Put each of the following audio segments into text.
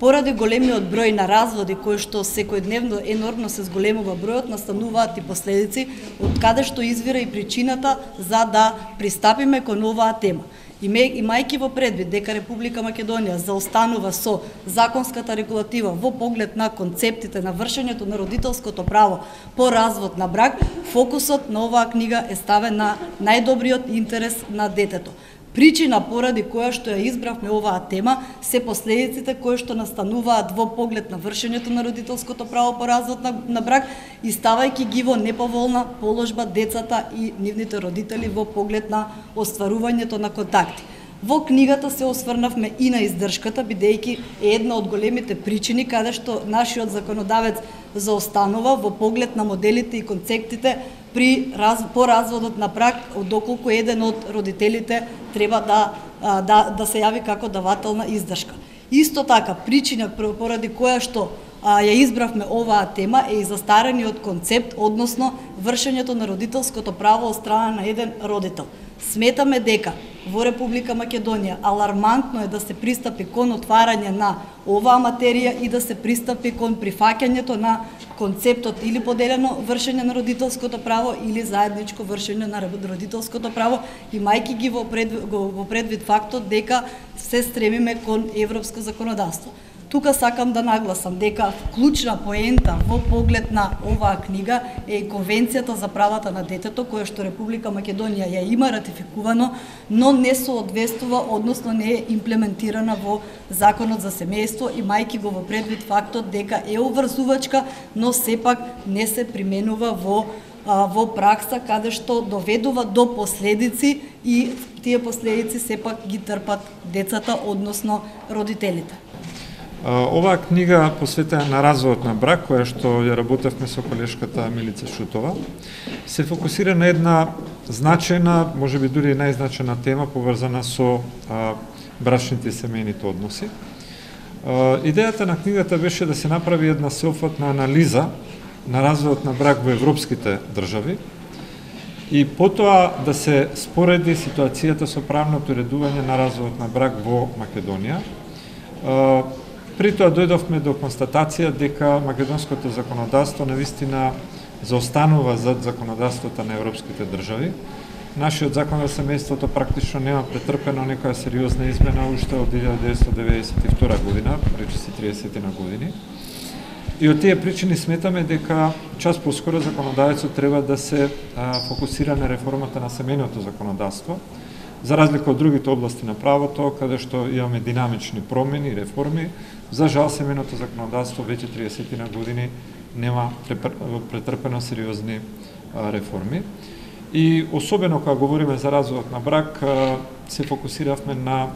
Поради големиот број на разводи кои што секојдневно енормно се зголемува бројот, настануваат и последици од каде што извира и причината за да пристапиме кон оваа тема. Имајќи во предвид дека Република Македонија заостанува со законската регулатива во поглед на концептите на вршењето на родителското право по развод на брак, фокусот на оваа книга е ставен на најдобриот интерес на детето. Причина поради која што ја избравме оваа тема се последиците кои што настануваат во поглед на вршењето на родителското право по развод на брак и ставајќи ги во неповолна положба децата и нивните родители во поглед на остварувањето на контакти. Во книгата се осврнавме и на издршката, бидејќи е една од големите причини каде што нашиот законодавец заостанува во поглед на моделите и концептите по разводот на брак, доколку еден од родителите треба да се јави како давател на издршка. Исто така, причина поради која што ја избравме оваа тема е и застарениот концепт, односно вршењето на родителското право од страна на еден родител. Сметаме дека во Република Македонија алармантно е да се пристапи кон отварање на оваа материја и да се пристапи кон прифаќањето на концептот или поделено вршење на родителското право или заедничко вршење на родителското право, имајќи ги во предвид фактот дека се стремиме кон европско законодавство. Тука сакам да нагласам дека клучна поента во поглед на оваа книга е и Конвенцијата за правата на детето, која што Република Македонија ја има ратификувано, но не соодветствува, односно не е имплементирана во Законот за семејство, имајќи го во предвид фактот дека е обврзувачка, но сепак не се применува во пракса, каде што доведува до последици и тие последици сепак ги трпат децата, односно родителите. Оваа книга посветена на разводот на брак, која што ја работевме со колешката Милица Шутова, се фокусира на една значајна, можеби дури и најзначајна тема поврзана со брачните и семејните односи. Идејата на книгата беше да се направи една сеопфатна анализа на разводот на брак во европските држави и потоа да се спореди ситуацијата со правното уредување на разводот на брак во Македонија. При тоа дојдовме до констатација дека македонското законодавство навистина заостанува зад законодавството на европските држави. Нашиот закон за семејството практично нема претрпено некоја сериозна измена уште од 1992 година, речиси 30 на години. И од тие причини сметаме дека час поскоро законодавецот треба да се фокусира на реформата на семејното законодавство, за разлика од другите области на правото, каде што имаме динамични промени и реформи. За жал, семејното законодавство веќе 30 на години нема претрпено сериозни реформи. И особено кога говориме за разводот на брак, се фокусиравме на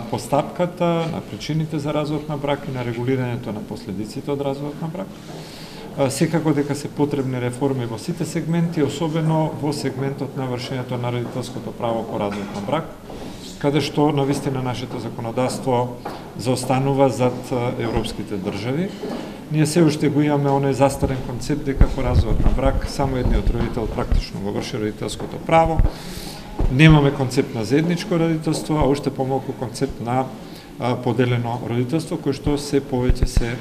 постапката, на причините за разводот на брак и на регулирањето на последиците од разводот на брак. Секако дека се потребни реформи во сите сегменти, особено во сегментот на вршењето на родителското право по развод на брак, каде што навистина нашето законодавство заостанува зад европските држави. Ние се уште го имаме оној застарен концепт дека по развод на брак само едниот родител практично го врши родителското право. Немаме концепт на заедничко родителство, а уште помалку концепт на поделено родителство, кој што се повеќе се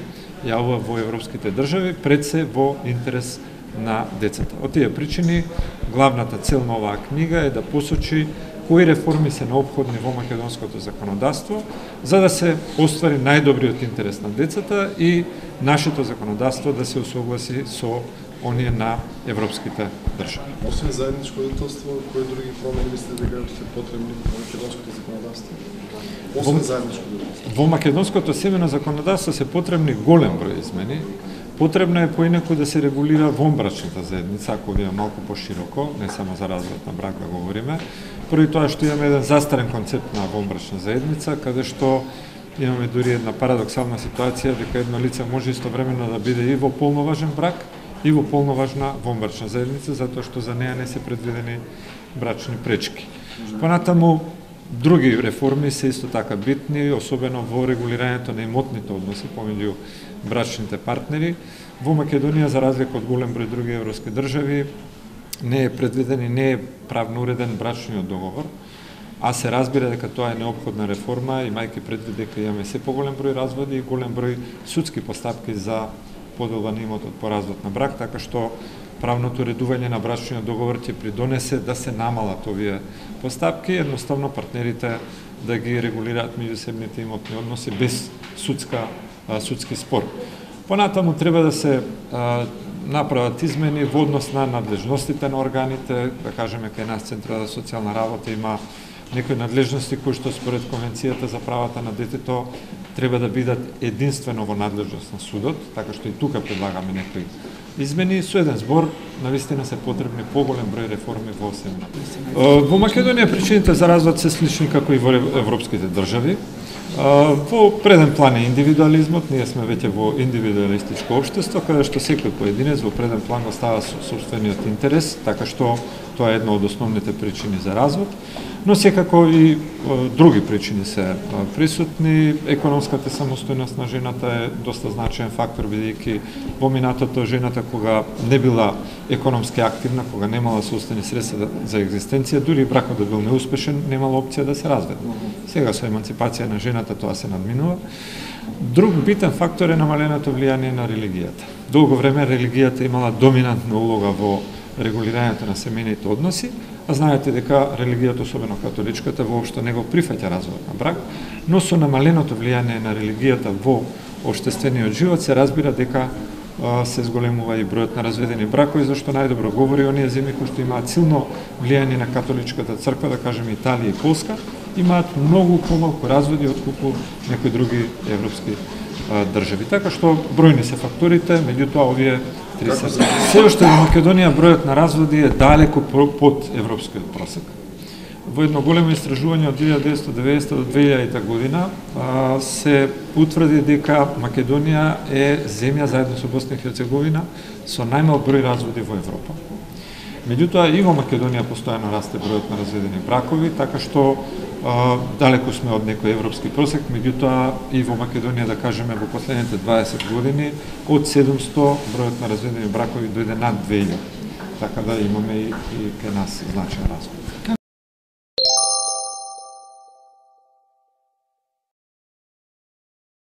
јавува во европските држави, пред се во интерес на децата. Од тие причини, главната цел на оваа книга е да посочи кои реформи се неопходни во македонското законодавство, за да се оствари најдобриот интерес на децата и нашето законодавство да се усогласи со оние на европските држави. Освен заедничко родителство, кои други промени мислите дека се потребни во македонското законодавство? Освен заедничко родителство. Во македонското семејно законодавство се потребни голем број измени. Потребно е поинаку да се регулира вонбрачната заедница, ако видиме малку пошироко, не само за развод на брак да говориме. Први тоа што имаме еден застарен концепт на вонбрачна заедница, каде што имаме дури една парадоксална ситуација дека едно лице може истовремено да биде и во полноважен брак и во полноважна вонбрачна заедница, затоа што за неја не се предвидени брачни пречки. Понатаму, други реформи се исто така битни, особено во регулирањето на имотните односи помеѓу брачните партнери. Во Македонија, за разлика од голем број други европски држави, не е предвиден и не е правно уреден брачниот договор, а се разбира дека тоа е неопходна реформа, имајќи предвид дека имаме се поголем број разводи и голем број судски постапки за поделба на имотот по развод на брак, така што правното редување на брачниот договор ќе придонесе да се намалат овие постапки, едноставно партнерите да ги регулираат меѓусебните имотни односи без судски спор. Понатаму треба да се направат измени во однос на надлежностите на органите, да кажеме кај нас Центрот за социјална работа има некои надлежности кои што според Конвенцијата за правата на детето треба да бидат единствено во надлежност на судот, така што и тука предлагаме некои измени. Со еден збор, навистина се потребни поголем број реформи во земјата. Во Македонија причините за развод се слични како и во европските држави. Во преден план е индивидуализмот, ние сме веќе во индивидуалистичко општество, каде што секој поединец во преден план го става сопствениот интерес, така што тоа е една од основните причини за развод. Но секако и други причини се присутни. Економската самостојност на жената е доста значаен фактор, бидејќи во минатото жената кога не била економски активна, кога немала собствени средства за екзистенција, дури бракот да бил неуспешен, немала опција да се разведе. Сега со еманципација на жената тоа се надминува. Друг битен фактор е намаленото влијание на религијата. Долго време религијата имала доминантна улога во регулирањето на семејните односи, а знаете дека религијата, особено католичката, воопшто не го прифаќа разводот на брак, но со намаленото влијание на религијата во општествениот живот се разбира дека се зголемува и бројот на разведени бракови, зашто најдобро говори оние земји кои што имаат силно влијание на католичката црква, да кажеме Италија и Полска, имаат многу помалку разводи отколку некои други европски држави. Така што бројни се факторите, меѓутоа овие три се. Се уште во Македонија бројот на разводи е далеку под европскиот просек. Во едно големо истражување од 1990 до 2000 година се утврди дека Македонија е земја заедно со Босна и Херцеговина со најмал број разводи во Европа. Меѓутоа и во Македонија постојано расте бројот на разведени бракови, така што далеку сме од некој европски просек, меѓутоа и во Македонија, да кажеме, во последните 20 години од 700 бројот на разведени бракови дојде над 2000. Така да имаме и кај нас значаен развој.